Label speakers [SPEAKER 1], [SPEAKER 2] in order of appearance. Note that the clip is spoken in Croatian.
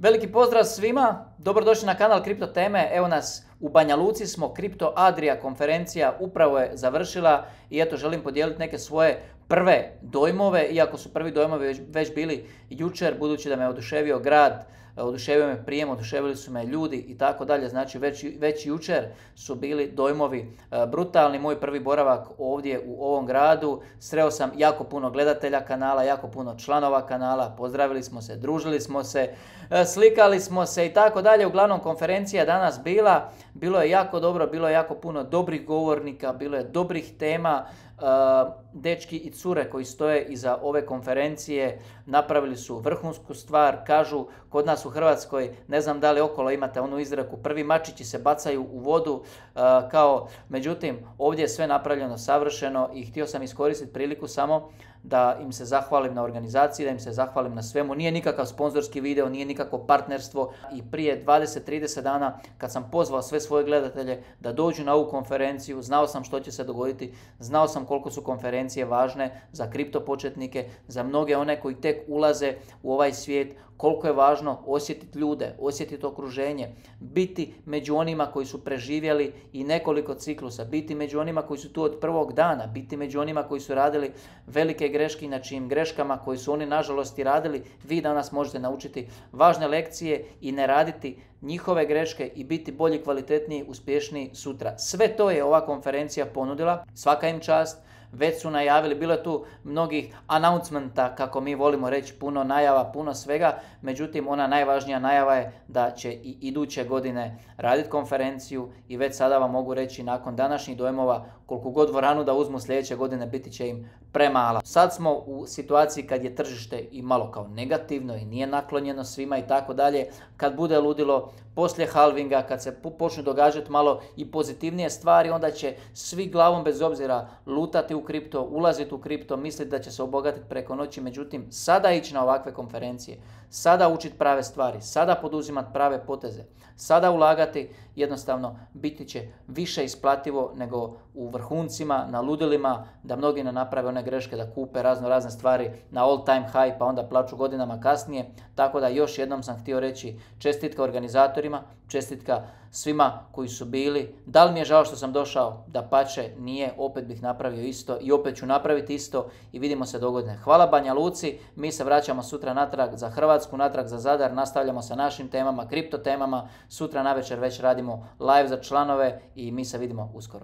[SPEAKER 1] Veliki pozdrav svima, dobrodošli na kanal Kripto teme. Evo nas u Banja Luci smo, Kripto Adria konferencija upravo je završila i eto želim podijeliti neke svoje prve dojmove, iako su prvi dojmovi već bili jučer, budući da me oduševio grad, oduševio me prijem, oduševili su me ljudi i tako dalje, znači već jučer su bili dojmovi brutalni. Moj prvi boravak ovdje u ovom gradu, sreo sam jako puno gledatelja kanala, jako puno članova kanala, pozdravili smo se, družili smo se, slikali smo se i tako dalje. Uglavnom konferencija je danas bilo je jako dobro, bilo je jako puno dobrih govornika, bilo je dobrih tema. Dečki i cure koji stoje iza ove konferencije napravili su vrhunsku stvar. Kažu kod nas u Hrvatskoj, ne znam da li okolo imate onu izreku, prvi mačići se bacaju u vodu, međutim ovdje je sve napravljeno savršeno i htio sam iskoristiti priliku samo da im se zahvalim na organizaciji, da im se zahvalim na svemu. Nije nikakav sponzorski video, nije nikakvo partnerstvo i prije 20-30 dana kad sam pozvao sve svoje gledatelje da dođu na ovu konferenciju, znao sam što će se dogoditi, znao sam koliko su konferencije važne za kripto početnike, za mnoge one koji tek ulaze u ovaj svijet, koliko je važno osjetiti ljude, osjetiti okruženje, biti među onima koji su preživjeli i nekoliko ciklusa, biti među onima koji su tu od prvog dana, biti među onima koji su radili velike greške i na čijim greškama koji su oni nažalost i radili, vi danas možete naučiti važne lekcije i ne raditi njihove greške i biti bolji, kvalitetniji, uspješniji sutra. Sve to je ova konferencija ponudila, svaka im čast. Već su najavili, bilo je tu mnogih announcementa, kako mi volimo reći, puno najava, puno svega, međutim ona najvažnija najava je da će i iduće godine raditi konferenciju i već sada vam mogu reći nakon današnjih dojmova koliko god dvoranu da uzmu sljedeće godine biti će im premala. Sad smo u situaciji kad je tržište i malo kao negativno i nije naklonjeno svima i tako dalje. Kad bude ludilo poslije halvinga, kad se počnu događati malo i pozitivnije stvari, onda će svi glavom bez obzira lutati u kripto, ulaziti u kripto, misliti da će se obogatiti preko noći. Međutim, sada ići na ovakve konferencije, sada učiti prave stvari, sada poduzimati prave poteze, sada ulagati, jednostavno biti će više isplativo nego u vrhuncima, na ludilima, da mnogi ne naprave one greške da kupe razne stvari na all time high pa onda plaću godinama kasnije. Tako da još jednom sam htio reći čestitka organizatorima, čestitka svima koji su bili. Da li mi je žao što sam došao? Dapače, nije, opet bih napravio isto i opet ću napraviti isto i vidimo se dogodine. Hvala Banja Luci, mi se vraćamo sutra natrag za Hrvatsku, natrag za Zadar, nastavljamo sa našim temama, kripto temama. Sutra navečer već radimo live za članove i mi se vidimo uskoro.